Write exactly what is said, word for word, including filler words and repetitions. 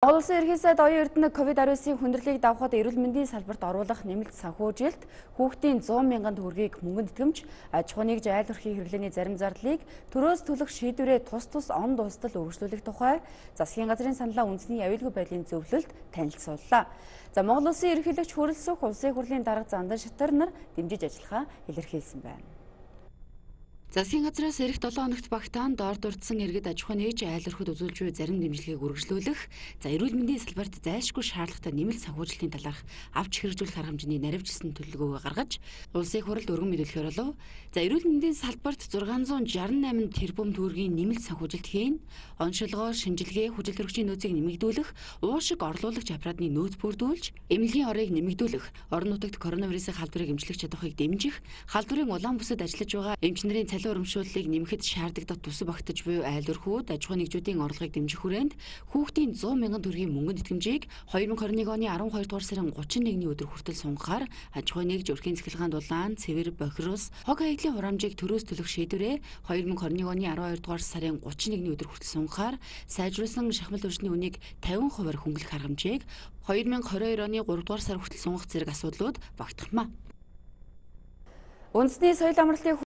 Монгол Улсын ерхий сайд оюун эрдэнэ ковид19-ийн хүндрэлийг давахад эрүүл мэндийн салбарт оруулах нэмэлт санхүүжилт, хүүхдийн зуун мянган төгрөгийг мөнгөнд итгэмж, аж ахуй нэгж айл өрхийн хэрэглээний зарим зардлыг төрөөс төлөх шийдвэрээ тус тус он дуустал үргэлжлүүлэх тухай засгийн газрын саналаа үндэсний аюулгүй байдлын зөвлөлд танилцууллаа. За Монгол Улсын ерөнхийлөгч Хүрэлцэх улсын хурлын дарга Зандан Шатар нар дэмжиж ажиллахаа илэрхийлсэн байна. Засгийн газраас эх долоо хоногт багтаан доор дурдсан иргэд аж ахуй нэгж айл өрхөд үзүүлж буй зарим дэмжлэгийг үргэлжлүүлэх, за эрүүл мэндийн салбарт зайлшгүй шаардлагатай нэмэлт санхүүжилтийн талаарх авч хэрэгжүүлэх арга хэмжээний наривчлсан төлөвлөгөөгөө гаргаж улсын хурлд өргөн мэдүүлэхээр болов. За эрүүл мэндийн салбарт зургаан зуун шарсан найман тэрбум төгрөгийн нэмэлт санхүүжилт хийн, онцлогоо, шинжилгээ, хүчил төрөгчийн нөөцийг нэмэгдүүлэх, уушиг орлуулагч аппаратны нөөц бүрдүүлж, эмнэлгийн орыг нэмэгдүүлэх, орон нутагт коронавирусын халдварыг эмчлэх чадварыг дэмжих, халдварын улаан бүсэд ажиллаж байгаа эмчнэрийн цалин урамшууллыг нэмэхэд шаардлагатай тусав багтаж буй айл өрхүүд, аж ахуй нэгжүүдийн орлогыг дэмжих хүрээнд хүүхдийн зуун мянган төгрөгийн мөнгөнд итгэмжийг хоёр мың хорин нэг оны араван хоёр дугаар сарын гучин нэгний өдөр хүртэл сунгахаар аж ахуй нэгж өрхийн цахилгаан дулаан, цэвэр, бохирос, хог хаягдлын хураамжийг төрөөс төлөх шийдвэрээ хоёр мың хорин нэг оны араван хоёр дугаар сарын гучин нэгний өдөр хүртэл сунгахаар сайжруулсан шахмал төвчний үнийг тавин хувиар хөнгөлөх арга хэмжээг хоёр мың хорин хоёр оны гурав дугаар сар хүртэл сунгах зэрэг асуудлууд багтахмаа. Үндэсний соёл амралтын